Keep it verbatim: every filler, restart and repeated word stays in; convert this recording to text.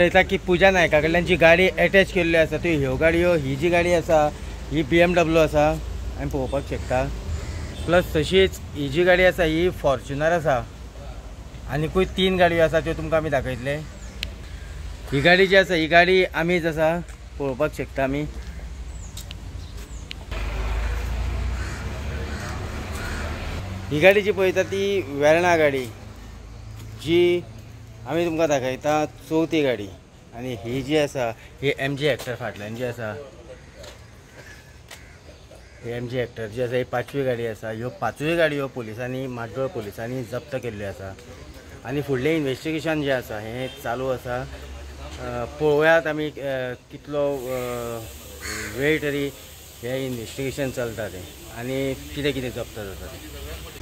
पळयता की पुजा नायका कडल्यान जी गाडी एटॅच केल्ली आसा त्यो ह्यो गाडयो, ही जी गाडी आसा ही बी एम डब्ल्यू आसा, आमी पळोवपाक शकता. प्लस तशीच ही जी गाडी आसा ही फॉर्च्युनर आसा. आनीकूय तीन गाडयो आसा त्यो तुमकां आमी दाखयतले. ही गाडी जी आसा ही गाडी आमीच आसा, पळोवपाक शकता आमी. ही गाडी जी पळयता ती वेर्णा गाडी जी आमी तुमकां दाखयता, चवथी गाडी. आनी ही जी आसा ही एम जी हेक्टर फाटल्यान जी आसा, ही एम जी हेक्टर जी आसा ही पांचवी गाडी आसा. ह्यो पांचूय गाडयो पुलिसांनी, म्हाड्डोळ पुलिसांनी जप्त केल्ल्यो आसा. आनी फुडलें इन्वेस्टिगेशन जें आसा हें चालू आसा. पळोवयात आमी कितलो वेळ तरी हें इन्वेस्टिगेशन चलता तें आनी कितें कितें जप्त जाता तें.